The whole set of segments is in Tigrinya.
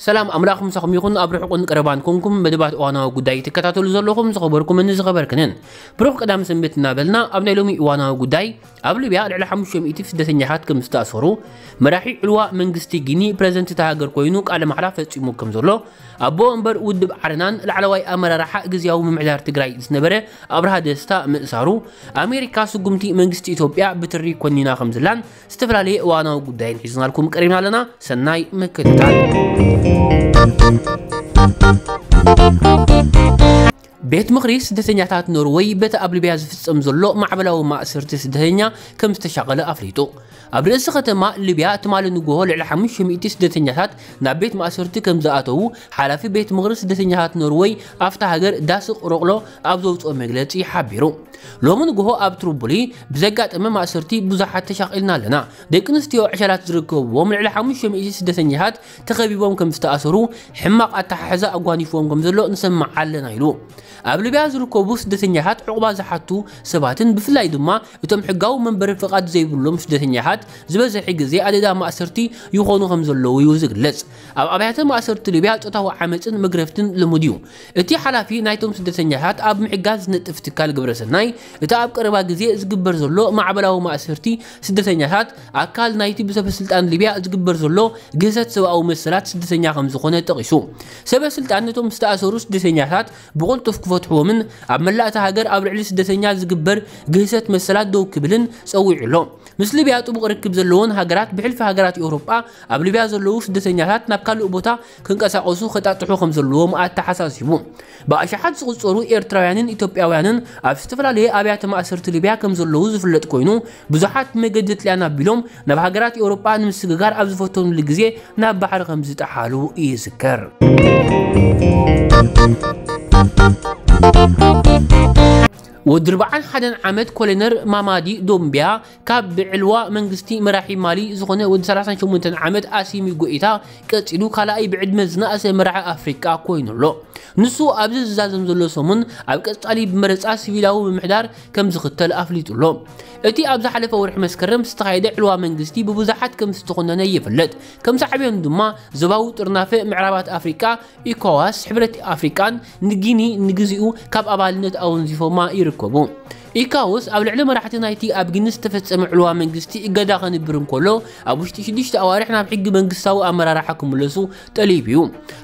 ሰላም ኣምላኽ ምሳኹም ይኹን። ኣብ ርሑቕን ቀረባን ኮንኩም መደባት እዋናዊ ጉዳይ ትከታተሉ ዘለኹም ዝኸበርኩምን ዝኸበርክንን፣ ብሩኽ ቀዳም ሰንበት እናበልና፣ ኣብ ናይ ሎሚ እዋናዊ ጉዳይ፣ ኣብ ሊብያ ልዕሊ ሓሙሽተ ሚእቲ ስደተኛታት ከም ዝተኣሰሩ፣ መራሒ ዕልዋ መንግስቲ ጊኒ ፕረዚደንት እታ ሃገር ኮይኑ ቃለ ማሕላ ፈጺሙ ከም ዘሎ፣ ኣቦ ወንበር ውድብ ዓረናን ላዕለዋይ ኣመራርሓ ግዝያዊ ምምሕዳር ትግራይ ዝነበረ ኣብርሃ ደስታ ምእሳሩ፣ ኣሜሪካ ስጉምቲ መንግስቲ ኢትዮጵያ ብትሪ ኮኒና ከም ዘላን ዝተፈላለየ እዋናዊ ጉዳይን ሒዝናልኩም ቀሪብና ኣለና። ሰናይ ምክትታል። ቤት ምኽሪ ስደተኛታት ኖርወይ በቲ ኣብ ሊብያ ዝፍጸም ዘሎ ማዕበላዊ ማእሰርቲ ስደተኛ ከም ዝተሻቐለ ኣፍሊጡ። ኣብ ርእሲ ከተማ ሊብያ ትማሊ ንግሆ ልዕሊ ሓሙሽተ ሚእቲ ስደተኛታት ናብ ቤት ማእሰርቲ ከም ዝኣተዉ ሓላፊ ቤት ምኽሪ ስደተኛታት ኖርወይ ኣብታ ሃገር ዳስቕ ሮቕሎ ኣብ ዘውፅኦ መግለፂ ሓቢሩ። ሎሚ ንግሆ ኣብ ትሪፖሊ ብዘጋጠመ ማእሰርቲ ብዙሓት ተሻቒልና ኣለና። ደቂ ኣንስትዮ ዕሸላት ዝርከብዎም ልዕሊ ሓሙሽተ ሚእቲ ስደተኛታት ተኸቢቦም ከም ዝተኣሰሩ ሕማቕ ኣተሓሕዛ ኣጓኒፍዎም ከም ዘሎ ንሰምዕ ኣለና ኢሉ። ኣብ ሊብያ ዝርከቡ ስደተኛታት ዕቑባ ዝሓቱ ሰባትን ብፍላይ ድማ እቶም ሕጋዊ መንበሪ ፍቓድ ዘይብሎም ስደተኛታት ዝበዝሕ ግዜ ኣደዳ ማእሰርቲ ይኾኑ ከም ዘለዉ እዩ ዝግለጽ። ኣብ ኣብያተ ማእሰርቲ ሊብያ ጾታዊ ዓመጽን መግረፍትን ልሙድ እዩ። እቲ ሓላፊ ናይቶም ስደተኛታት ኣብ ምሕጋዝ ዝነጥፍ ትካል ግብረሰናይ፣ እቲ ኣብ ቀረባ ግዜ ዝግበር ዘሎ ማዕበላዊ ማእሰርቲ ስደተኛታት ኣካል ናይቲ ብሰበስልጣን ሊብያ ዝግበር ዘሎ ግህሰት ሰብኣዊ መሰላት ስደተኛ ከም ዝኾነ ጠቒሱ። ሰበስልጣን ነቶም ዝተኣሰሩ ስደተኛታት ብቕልጡፍ ክፈትሕዎምን ኣብ መላእ እታ ሃገር ኣብ ልዕሊ ስደተኛ ዝግበር ግህሰት መሰላት ደው ክብልን ጸዊዑ ኣሎ። ምስ ሊብያ ጥቡቕ ርክብ ዘለወን ሃገራት ብሕልፊ ሃገራት ኤውሮጳ ኣብ ሊብያ ዘለዉ ስደተኛታት ናብ ካልእ ቦታ ክንቀሳቐሱ ከጣጥሑ ከም ዘለዎም ኣተሓሳሲቡ። ብኣሽሓት ዝቑጸሩ ኤርትራውያንን ኢትዮጵያውያንን ኣብ ዝተፈላለየ ኣብያተ ማእሰርቲ ሊብያ ከም ዘለዉ ዝፍለጥ ኮይኑ፣ ብዙሓት መገዲ ጥልያን ኣቢሎም ናብ ሃገራት ኤውሮጳ ንምስግጋር ኣብ ዝፈተኑሉ ግዜ ናብ ባሕሪ ከም ዝጠሓሉ ይዝከር። ወዲ ኣርብዓን ሓደን ዓመት ኮሎነል ማማዲ ዶምቢያ ካብ ብዕልዋ መንግስቲ መራሒ ማሊ ዝኾነ ወዲ ሰላሳን ሸሞንተን ዓመት ኣሲሚ ጎኢታ ቀጺሉ ካልኣይ ብዕድመ ዝነኣሰ መራሒ ኣፍሪቃ ኮይኑ ኣሎ። ንሱ ኣብዚ ዝዛዘም ዘሎ ሰሙን ኣብ ቀጻሊ ብመረጻ ሲቪላዊ ምምሕዳር ከም ዝኽተል ኣፍሊጡ ኣሎ። እቲ ኣብ ዝሓለፈ ወርሒ መስከረም ዝተኻየደ ዕልዋ መንግስቲ ብብዙሓት ከም ዝተኾነነ ይፍለጥ። ከም ሳዕቤኑ ድማ ዞባዊ ጥርናፈ ምዕራባት ኣፍሪቃ፣ ኢኮዋስ፣ ሕብረት ኣፍሪቃን ንጊኒ ንግዚኡ ካብ ኣባልነት ኣወንዚፎማ ይርከቡ። ኢኮዋስ ኣብ ልዕሊ መራሕቲ ናይቲ ኣብ ጊኒ ዝተፈጸመ ዕልዋ መንግስቲ እገዳ ከንብር እንከሎ፣ ኣብ ውሽጢ ሽዱሽተ ኣዋርሕ ናብ ሕጊ መንግስታዊ ኣመራርሓ ክምለሱ ጠሊቡ እዩ።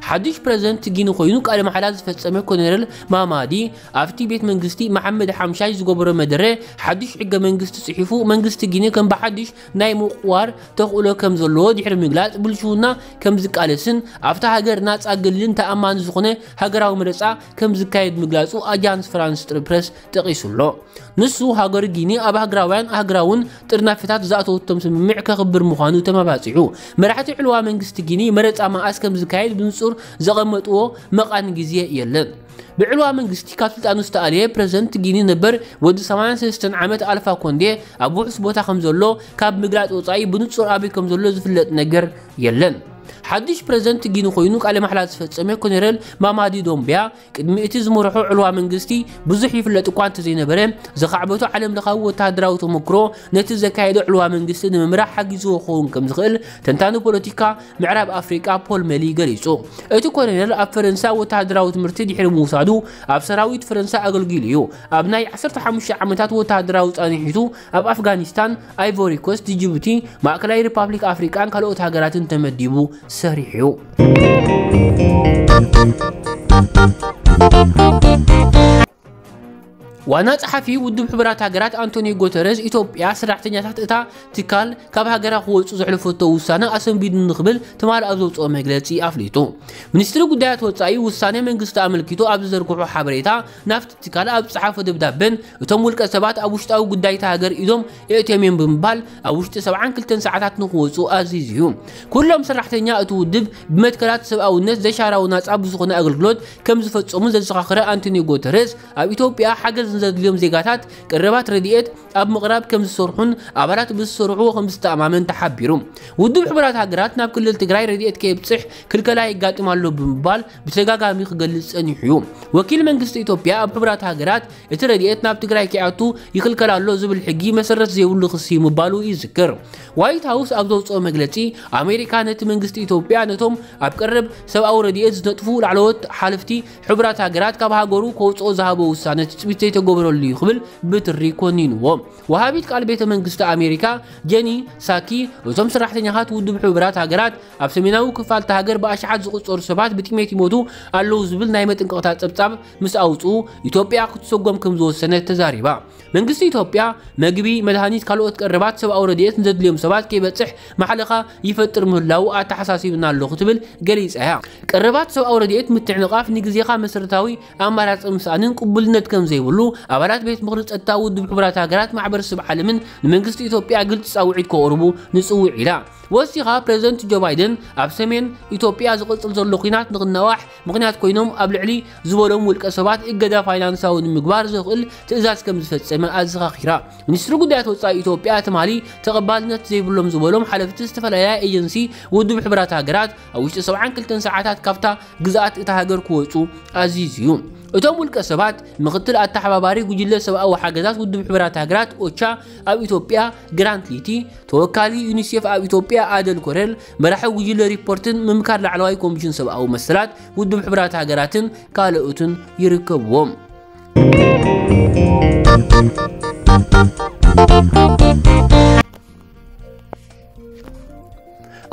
ሓድሽ ፕረዚደንት ጊኒ ኮይኑ ቃለ ማሕላ ዝፈጸመ ኮሎኔል ማማዲ ኣብቲ ቤት መንግስቲ መሓመድ ሓምሻይ ዝገበሮ መደረ፣ ሓድሽ ሕገ መንግስቲ ጽሒፉ መንግስቲ ጊኒ ከም ብሓድሽ ናይ ምቕዋር ተኽእሎ ከም ዘለዎ ድሕሪ ምግላጽ፣ ብልሽውና ከም ዝቃለስን ኣብታ ሃገር ናጻ፣ ገሊልን ተኣማኒ ዝኾነ ሃገራዊ መረጻ ከም ዝካየድ ምግላጹ ኣጃንስ ፍራንስ ፕረስ ጠቒሱ ኣሎ። ንሱ፣ ሃገር ጊኒ ኣብ ሃገራውያን ኣህግራውን ጥርናፈታት ዝኣተወቶም ስምምዕ ከኽብር ምዃኑ ተመባጺዑ። መራሕቲ ዕልዋ መንግስቲ ጊኒ መረጻ መኣስ ከም ዝካየድ ብንጹር ዘቐመጥዎ መቓን ግዜ የለን። ብዕልዋ መንግስቲ ካብ ስልጣኑ ዝተኣልየ ፕረዚደንት ጊኒ ነበር ወዲ ሰማንያን ሰለስተን ዓመት ኣልፋ ኮንዴ ኣብ ውሑስ ቦታ ከም ዘሎ ካብ ምግላጽ ወጻኢ ብንጹር ኣበይ ከም ዘሎ ዝፍለጥ ነገር የለን። ሓድሽ ፕረዚደንት ጊኒ ኮይኑ ቃለ ማሕላ ዝፈጸመ ኮሎኔል ማማዲ ዶምቢያ ቅድሚ እቲ ዝመርሖ ዕልዋ መንግስቲ ብዙሕ ይፍለጥ እኳ እንተዘይነበረ፣ ዘኻዕበቶ ዓለም ለኻዊ ወተሃደራዊ ተመክሮ ነቲ ዘካየዶ ዕልዋ መንግስቲ ንምምራሕ ሓጊዝዎ ክኸውን ከም ዝኽእል ተንታኒ ፖለቲካ ምዕራብ ኣፍሪቃ ፖል መሊ ገሊጹ። እቲ ኮሎኔል ኣብ ፈረንሳ ወተሃደራዊ ትምህርቲ ድሕሪ ምውሳዱ ኣብ ሰራዊት ፈረንሳ ኣገልጊሉ እዩ። ኣብ ናይ ዓሰርተ ሓሙሽተ ዓመታት ወተሃደራዊ ጻንሒቱ ኣብ ኣፍጋኒስታን፣ ኣይቮሪ ኮስት፣ ጅቡቲ፣ ማእከላይ ሪፓብሊክ ኣፍሪቃን ካልኦት ሃገራትን ተመዲቡ ሰሪሑ እዩ። ዋና ጸሓፊ ውድብ ሕቡራት ሃገራት ኣንቶኒዮ ጉተረዝ፣ ኢትዮጵያ ሰራሕተኛታት እታ ትካል ካብ ሃገራ ክወጹ ዘሕለፈቶ ውሳነ ኣሰንቢዱኒ ክብል ትማሊ ኣብ ዘውጽኦ መግለጺ ኣፍሊጡ። ሚኒስትሪ ጉዳያት ወጻኢ ውሳነ መንግስቲ ኣመልኪቱ ኣብ ዝዘርግሖ ሓበሬታ፣ ናብቲ ትካል ኣብ ዝጸሓፎ ደብዳበን፣ እቶም ውልቀ ሰባት ኣብ ውሽጣዊ ጉዳይ እታ ሃገር ኢዶም የእትዮም እዮም ብምባል ኣብ ውሽጢ ሰብዓን ክልተን ሰዓታት ንክወጹ ኣዚዙ እዩ። ኩሎም ሰራሕተኛ እቲ ውድብ ብመትከላት ሰብኣውነት ዘይሻራዊ ናጻ ብዝኾነ ኣገልግሎት ከም ዝፈጸሙ ዘዘኻኸረ ኣንቶኒዮ ጉተረዝ፣ ኣብ ኢትዮጵያ ሓገዝ ዘድልዮም ዜጋታት ቀረባት ረድኤት ኣብ ምቕራብ ከም ዝሰርሑን ኣባላት ብዝሰርሕዎ ከም ዝተኣማመን ተሓቢሩ። ውድብ ሕቡራት ሃገራት ናብ ክልል ትግራይ ረድኤት ከየብፅሕ ክልከላ የጋጥም ኣሎ ብምባል ብተደጋጋሚ ክገልጽ ጸኒሑ እዩ። ወኪል መንግስቲ ኢትዮጵያ ኣብ ሕቡራት ሃገራት እቲ ረድኤት ናብ ትግራይ ከይኣቱ ይኽልከል ኣሎ ዝብል ሕጊ መሰረት ዘይብሉ ክሲ ምባሉ ይዝክር። ዋይት ሃውስ ኣብ ዘውፅኦ መግለጺ፣ ኣሜሪካ ነቲ መንግስቲ ኢትዮጵያ ነቶም ኣብ ቀረብ ሰብኣዊ ረድኤት ዝነጥፉ ላዕለዎት ሓለፍቲ ሕቡራት ሃገራት ካብ ሃገሩ ከውፅኦ ዝሃቦ ውሳነ ትፅቢት ዘይተገበረሉ እዩ ክብል ብትሪ ኮኒንዎ። ወሃቢት ቃል ቤተ መንግስቲ ኣሜሪካ ጀኒ ሳኪ፣ እቶም ሰራሕተኛታት ውድብ ሕቡራት ሃገራት ኣብ ሰሜናዊ ክፋል እታ ሃገር ብኣሽሓት ዝቑጸሩ ሰባት ብጥሜት ይሞቱ ኣለዉ ዝብል ናይ መጠንቀቕታ ጸብጻብ ምስ ኣውጽኡ፣ ኢትዮጵያ ክትሰጎም ከም ዝወሰነት ተዛሪባ። መንግስቲ ኢትዮጵያ መግቢ፣ መድሃኒት፣ ካልኦት ቀረባት ሰብኣዊ ረድኤት ንዘድልዮም ሰባት ከይበጽሕ ማሕለኻ ይፈጥር ምህላዉ ኣተሓሳሲብና ኣሎ ክትብል ገሊጻ እያ። ቀረባት ሰብኣዊ ረድኤት ምትዕንቓፍ ንግዜኻ መሰረታዊ ኣማራጺ ምስኣንን ቅቡልነት ከም ዘይብሉ ኣባላት ቤት ምኽሪ ጸጥታ ውድብ ሕቡራት ሃገራት ማሕበረሰብ ዓለምን ንመንግስቲ ኢትዮጵያ ግልጺ ጻውዒት ከቕርቡ ንጽውዕ ኢላ። ወሲኻ ፕሬዝደንት ጆ ባይደን ኣብ ሰሜን ኢትዮጵያ ዝቕጽል ዘሎ ኲናት ንኽናዋሕ ምኽንያት ኮይኖም ኣብ ልዕሊ ዝበሎም ውልቀ ሰባት እገዳ ፋይናንሳዊ ንምግባር ዘኽእል ትእዛዝ ከም ዝፈጸመ ኣዘኻኺራ። ሚኒስትሪ ጉዳያት ወጻኢ ኢትዮጵያ ትማሊ ተቐባልነት ዘይብሎም ዝበሎም ሓለፍቲ ዝተፈላለያ ኤጀንሲ ውድብ ሕቡራት ሃገራት ኣብ ውሽጢ ሰብዓን ክልተን ሰዓታት ካብታ ግዝኣት እታ ሃገር ክወጹ ኣዚዙ እዩ። እቶም ውልቀ ሰባት ምኽትል ኣተሓባባሪ ጉጅለ ሰብኣዊ ሓገዛት ውድብ ሕቡራት ሃገራት ኦቻ ኣብ ኢትዮጵያ ግራንት ሊቲ፣ ተወካሊ ዩኒሴፍ ኣብ ኢትዮጵያ ኣደል ኮረል፣ መራሒ ጉጅለ ሪፖርትን ምምካር ላዕለዋይ ኮሚሽን ሰብኣዊ መሰላት ውድብ ሕቡራት ሃገራትን ካልኦትን ይርከብዎም።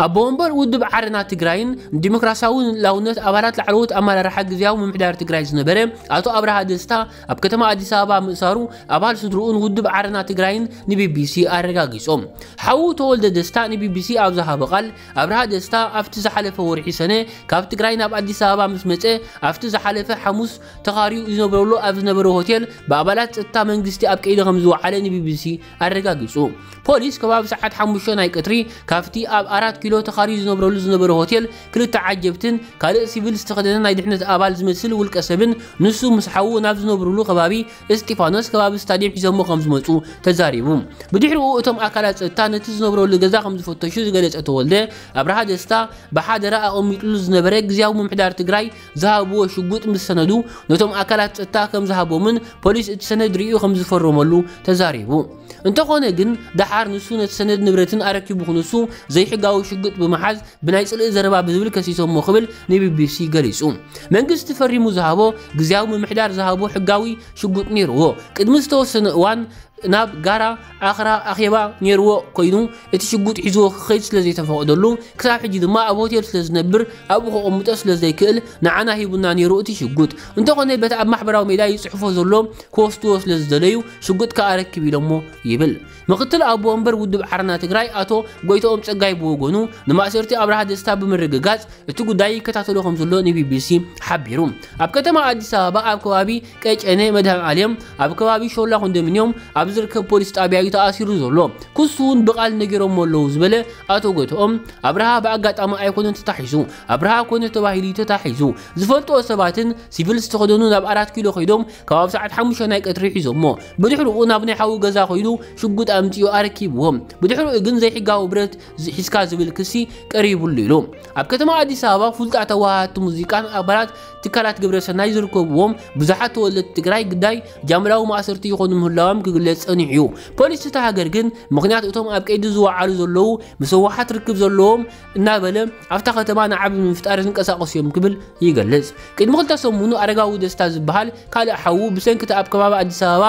ኣቦ ወንበር ውድብ ዓረና ትግራይን ዲሞክራሲያዊ ልኡላውነት ኣባላት ላዕለዎት ኣመራርሓ ግዝያዊ ምምሕዳር ትግራይ ዝነበረ ኣቶ ኣብርሃ ደስታ ኣብ ከተማ ኣዲስ ኣበባ ምእሳሩ ኣባል ስድርኡን ውድብ ዓረና ትግራይን ንቢቢሲ ኣረጋጊጾም። ሓዉ ተወልደ ደስታ ንቢቢሲ ኣብ ዝሃቦ ቃል፣ ኣብርሃ ደስታ ኣብቲ ዝሓለፈ ወርሒ ሰነ ካብ ትግራይ ናብ ኣዲስ ኣበባ ምስ መጸ፣ ኣብቲ ዝሓለፈ ሓሙስ ተኻርዩ ዝነብረሉ ኣብ ዝነበረ ሆቴል ብኣባላት ጸጥታ መንግስቲ ኣብ ቀይዲ ከም ዝወዓለ ንቢቢሲ ኣረጋጊጹ። ፖሊስ ከባቢ ሰዓት ሓሙሽተ ናይ ቀትሪ ካብቲ ኣብ ኣራት ኪሎ ተኻርዩ ዝነብረሉ ዝነበረ ሆቴል ክልተ ዓጀብትን ካልእ ሲቪል ዝተኸደነ ናይ ድሕነት ኣባል ዝመስል ውልቀ ሰብን ንሱ ምስ ሓዉ ናብ ዝነብርሉ ከባቢ እስጢፋኖስ ከባቢ ስታድየም ሒዞሞ ከም ዝመጹ ተዛሪቡ። ብድሕሪኡ እቶም ኣካላት ጸጥታ ነቲ ዝነብረሉ ገዛ ከም ዝፈተሹ ዝገለጸ ተወልደ፣ ኣብርሃ ደስታ ብሓደራ ኣቐሚጥሉ ዝነበረ ግዝያዊ ምምሕዳር ትግራይ ዝሃብዎ ሽጉጥ ምስ ሰነዱ ነቶም ኣካላት ጸጥታ ከም ዝሃቦምን ፖሊስ እቲ ሰነድ ርእዩ ከም ዝፈረመሉ ተዛሪቡ። እንተኾነ ግን፣ ደሓር ንሱ ነቲ ሰነድ ንብረትን ኣረኪቡ ክንሱ ዘይሕጋዊ ሽጉጥ ብምሓዝ ብናይ ጽልኢ ዘረባ ብዝብል ከሲሶሞ ክብል ንቢቢሲ ገሊጹ። መንግስቲ ፈሪሙ ዝሃቦ ግዝያዊ ምምሕዳር ዝሃቦ ሕጋዊ ሽጉጥ ነይርዎ። ቅድሚ ዝተወሰነ እዋን ናብ ጋራ ኣኽራ ኣኼባ ነይርዎ ኮይኑ፣ እቲ ሽጉጥ ሒዝዎ ክኸይድ ስለ ዘይተፈቐደሉ፣ ክሳብ ሕጂ ድማ ኣብ ሆቴል ስለ ዝነብር፣ ኣብኡ ከቐምጦ ስለ ዘይክእል፣ ንዓና ሂቡና ነይሩ እቲ ሽጉጥ። እንተኾነ፣ በቲ ኣብ ማሕበራዊ ሜድያ ይጽሕፎ ዘሎ ክወስድዎ ስለ ዝደለዩ፣ ሽጉጥ ከኣ ኣረክብ ኢሎሞ ይብል። ምክትል ኣቦ ወንበር ውድብ ዓረና ትግራይ ኣቶ ጎይትኦም ጸጋይ ብወገኑ፣ ንማእሰርቲ ኣብርሃ ደስታ ብምርግጋጽ፣ እቲ ጉዳይ ይከታተሎ ከም ዘሎ ንቢቢሲ ሓቢሩ። ኣብ ከተማ ኣዲስ ኣበባ ኣብ ከባቢ ቀጨኔ መድሃን ኣልዮም ኣብ ከባቢ ሾላ ኮንዶሚንዮም ኣብ ዝርከብ ፖሊስ ጣብያ እዩ ተኣሲሩ ዘሎ። ክሱ እውን ብቓል ነጊሮሞ ኣለዉ ዝበለ ኣቶ ጎይትኦም፣ ኣብርሃ ብኣጋጣሚ ኣይኮነን ተታሒዙ፣ ኣብርሃ ኮነ ተባሂሉ እዩ ተታሒዙ። ዝፈልጥዎ ሰባትን ሲቪል ዝተኸደኑ ናብ ኣራት ኪሎ ከይዶም ከባቢ ሰዓት ሓሙሽተ ናይ ቀትሪ ሒዞሞ። ብድሕሪኡ ናብ ናይ ሓዉ ገዛ ከይዱ ሽጉጥ ኣምጺኡ ኣረኪብዎም። ብድሕሪኡ ግን ዘይሕጋዊ ብረት ዝ-፣ ሒዝካ ዝብል ክሲ ቀሪቡሉ ኢሉ። ኣብ ከተማ ኣዲስ ኣበባ ፍሉጣት ተዋሃድቲ ሙዚቃን ኣባላት ትካላት ግብረ ሰናይ ዝርከብዎም ብዙሓት ተወለድቲ ትግራይ ግዳይ ጃምላዊ ማእሰርቲ ይኾኑ ምህላዎም ክግለጽ ጸኒሑ እዩ። ፖሊስ እታ ሃገር ግን ምኽንያት እቶም ኣብ ቀይዲ ዝወዓሉ ዘለዉ ምስ ህወሓት ርክብ ዘለዎም እናበለ ኣብታ ከተማ ናዕቢ ንምፍጣር ዝንቀሳቐሱ እዮም ክብል ይገልጽ። ቅድሚ ክልተ ሰሙኑ ኣረጋዊ ደስታ ዝበሃል ካልእ ሓዉ ብሰንኪ እቲ ኣብ ከባቢ ኣዲስ ኣበባ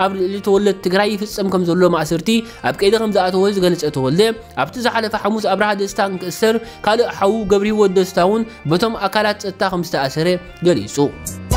ኣብ ልዕሊ ተወለድቲ ትግራይ ይፍጸም ከም ዘሎ ማእሰርቲ ኣብ ቀይዲ ከም ዝኣተወ ዝገለጸ ተወልደ፣ ኣብቲ ዝሓለፈ ሓሙስ ኣብርሃ ደስታ እንክእሰር ካልእ ሓዉ ገብረህይወት ደስታ እውን በቶም ኣካላት ጸጥታ ከም ዝተኣሰረ ገሊጹ።